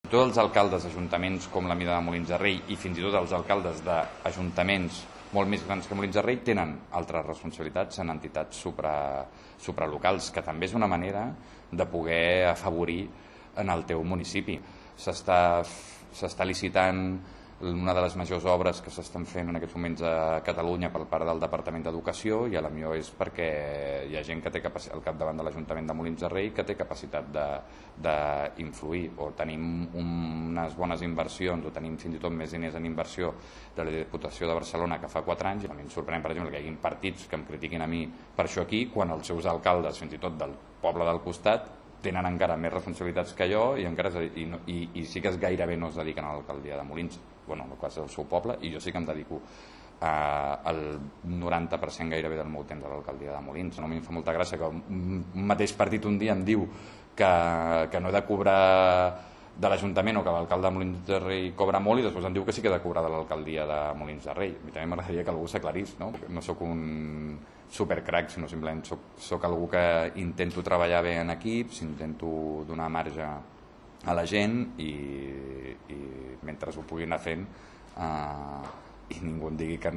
Tots els alcaldes d'ajuntaments com la mida de Molins de Rei i fins i tot els alcaldes d'ajuntaments molt més grans que Molins de Rei tenen altres responsabilitats en entitats supralocals, que també és una manera de poder afavorir en el teu municipi. S'està licitant una de les majors obres que s'estan fent en aquests moments a Catalunya per part del Departament d'Educació, i potser és perquè hi ha gent que té al capdavant de l'Ajuntament de Molins de Rei que té capacitat d'influir, o tenim unes bones inversions, o tenim fins i tot més diners en inversió de la Diputació de Barcelona que fa 4 anys, i a mi em sorprèn, per exemple, que hi hagi partits que em critiquin a mi per això aquí, quan els seus alcaldes, fins i tot del poble del costat, tenen encara més responsabilitats que jo i sí que gairebé no es dediquen a l'alcaldia de Molins, en el cas del seu poble, i jo sí que em dedico el 90% gairebé del meu temps a l'alcaldia de Molins. No, a mi em fa molta gràcia que un mateix partit un dia em diu que no he de cobrar de l'Ajuntament o que l'alcalde de Molins de Rei cobra molt, i després em diu que sí que he de cobrar de l'alcaldia de Molins de Rei. A mi també m'agradaria que algú s'aclarís, no? No sóc un supercrac, sinó simplement soc algú que intento treballar bé en equips, intento donar marge a la gent i mentre ho pugui anar fent i ningú em digui que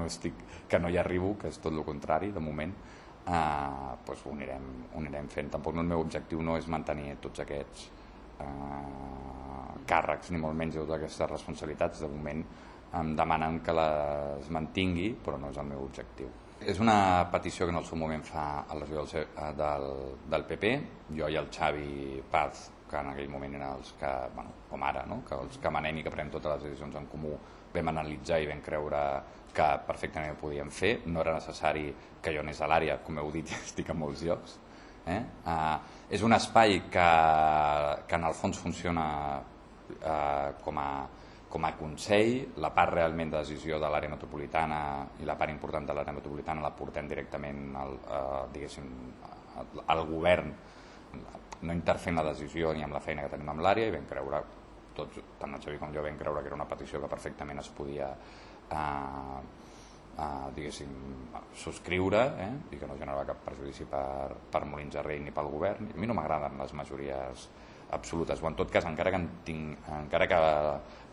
no hi arribo, que és tot el contrari de moment, doncs ho anirem fent. Tampoc el meu objectiu no és mantenir tots aquests càrrecs, ni molt menys totes aquestes responsabilitats. De moment em demanen que les mantingui, però no és el meu objectiu. És una petició que en el seu moment fa a la regidora del PP, jo i el Xavi Paz, que en aquell moment eren els que, com ara, que els que manem i que prenem totes les decisions en comú, vam analitzar i vam creure que perfectament ho podíem fer. No era necessari que jo anés a l'àrea, com heu dit, estic en molts llocs. És un espai que en el fons funciona com a consell. La part realment de decisió de l'àrea metropolitana i la part important de l'àrea metropolitana la portem directament al govern, no interfent la decisió ni amb la feina que tenim amb l'àrea, i vam creure, tots, tant el Xavi com jo, vam creure que era una petició que perfectament es podia subscriure, i que no generava cap perjudici per Molins de Rei ni pel govern. A mi no m'agraden les majories absolutes, o en tot cas, encara que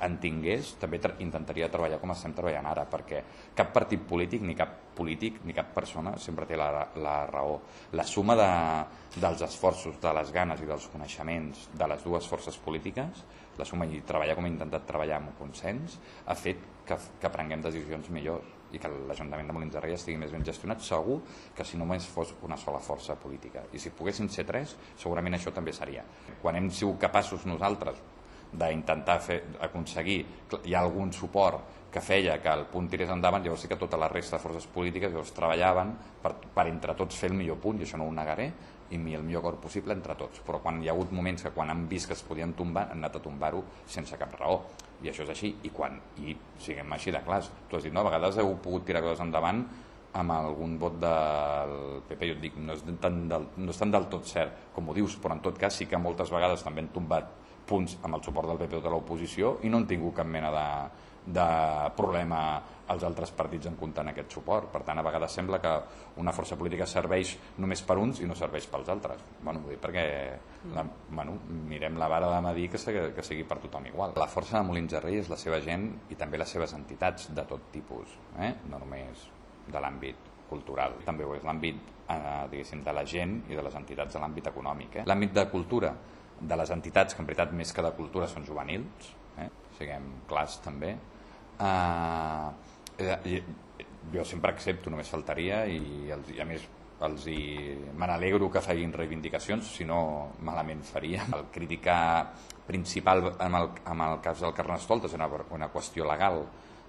en tingués, també intentaria treballar com estem treballant ara, perquè cap partit polític ni cap persona sempre té la raó. La suma dels esforços, de les ganes i dels coneixements de les dues forces polítiques, la suma i treballar com he intentat treballar amb un consens, ha fet que prenguem decisions millors i que l'Ajuntament de Molins de Rei estigui més ben gestionat, segur que si només fos una sola força política. I si poguessin ser 3, segurament això també seria. Quan hem sigut capaços nosaltres d'intentar aconseguir, hi ha algun suport que feia que el punt tirés endavant, llavors sí que tota la resta de forces polítiques treballaven per entre tots fer el millor punt, i això no ho negaré, i el millor acord possible entre tots. Però quan hi ha hagut moments que quan han vist que es podien tombar, han anat a tombar-ho sense cap raó, i això és així. I siguem així de clars, tu has dit, no, a vegades heu pogut tirar coses endavant amb algun vot del PP. Jo et dic, no és tan del tot cert com ho dius, però en tot cas sí que moltes vegades també han tombat punts amb el suport del PP o de l'oposició i no han tingut cap mena de problema als altres partits en comptar en aquest suport. Per tant, a vegades sembla que una força política serveix només per uns i no serveix pels altres. Ho dic perquè mirem la vara de medir que sigui per tothom igual. La força de Molins de Rei és la seva gent i també les seves entitats de tot tipus, no només de l'àmbit cultural, també ho és l'àmbit de la gent i de les entitats de l'àmbit econòmic. L'àmbit de cultura de les entitats, que en veritat més que de cultura són juvenils, siguem clars també, jo sempre accepto, només faltaria, i a més me n'alegro que facin reivindicacions, si no malament faria. El criticar principal en el cas del Carnestoltes és una qüestió legal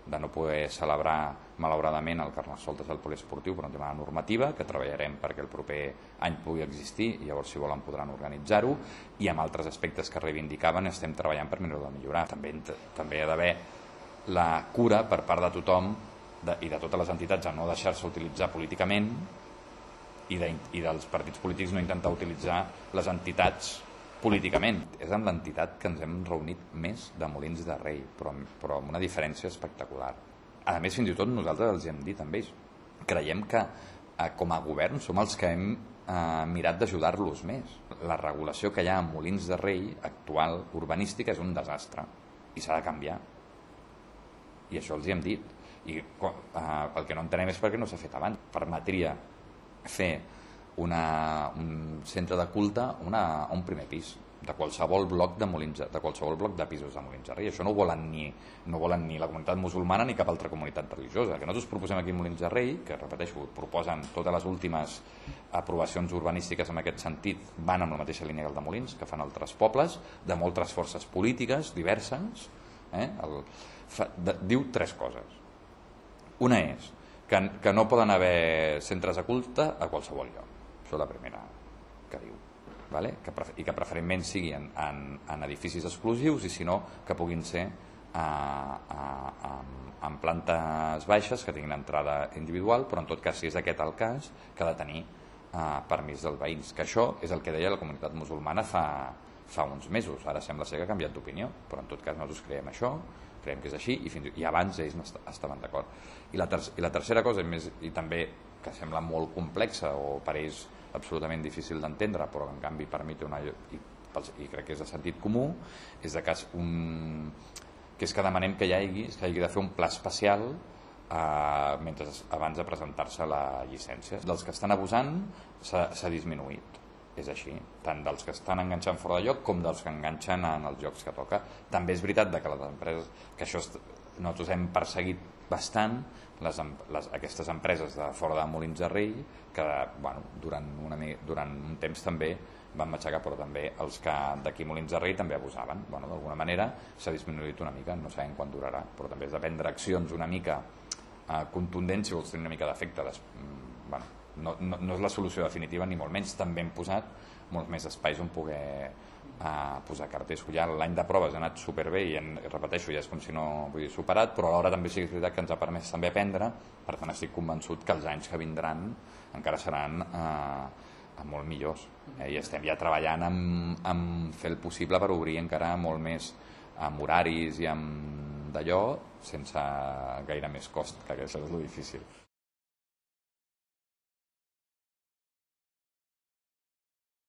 de no poder celebrar malauradament el Carnestoltes del poliesportiu per un tema de normativa, que treballarem perquè el proper any pugui existir i llavors si volen podran organitzar-ho, i amb altres aspectes que reivindicaven estem treballant per millorar. També hi ha d'haver la cura per part de tothom i de totes les entitats a no deixar-se utilitzar políticament i dels partits polítics no intentar utilitzar les entitats políticament. És amb l'entitat que ens hem reunit més de Molins de Rei, però amb una diferència espectacular. A més, fins i tot nosaltres els hem dit amb ells, creiem que com a govern som els que hem mirat d'ajudar-los més. la regulació que hi ha a Molins de Rei actual, urbanística, és un desastre i s'ha de canviar, i això els hi hem dit, i el que no entenem és per què no s'ha fet abans. Permetria fer un centre de culte a un primer pis de qualsevol bloc de pisos de Molins de Rei. Això no ho volen ni la comunitat musulmana ni cap altra comunitat religiosa. El que nosaltres proposem aquí a Molins de Rei, que repeteixo, proposen totes les últimes aprovacions urbanístiques en aquest sentit, van amb la mateixa línia que el de Molins, que fan altres pobles de moltes forces polítiques diverses, diu 3 coses. Una és que no poden haver centres de culte a qualsevol lloc. Això és la primera que diu. I que preferentment siguin en edificis exclusius, i si no, que puguin ser en plantes baixes, que tinguin entrada individual, però en tot cas, si és aquest el cas, que ha de tenir permís dels veïns. Que això és el que deia la comunitat musulmana fa uns mesos. Ara sembla ser que ha canviat d'opinió, però en tot cas nosaltres creiem això, creiem que és així, i abans ells estaven d'acord. I la tercera cosa, i també que sembla molt complexa o per ells absolutament difícil d'entendre, però en canvi per mi té i crec que és de sentit comú, és que demanem que hi hagi de fer un pla especial abans de presentar-se la llicència. Dels que estan abusant s'ha disminuït, és així, tant dels que estan enganxant fora de lloc com dels que enganxen en els llocs que toca. També és veritat que les empreses, que això nosaltres hem perseguit bastant, aquestes empreses de fora de Molins de Rei, que durant un temps també van matxacar, però també els que d'aquí Molins de Rei també abusaven. D'alguna manera s'ha disminuït una mica, no sabem quan durarà, però també és de prendre accions una mica contundents, si vols tenir una mica d'efecte. No és la solució definitiva ni molt menys, també hem posat molts més espais on poder posar cartells. L'any de proves ha anat superbé i repeteixo, ja és com si no vull dir superat, però alhora també sí que és veritat que ens ha permès també aprendre. Per tant estic convençut que els anys que vindran encara seran molt millors, i estem ja treballant en fer el possible per obrir encara molt més amb horaris i amb d'allò sense gaire més cost, que això és el difícil.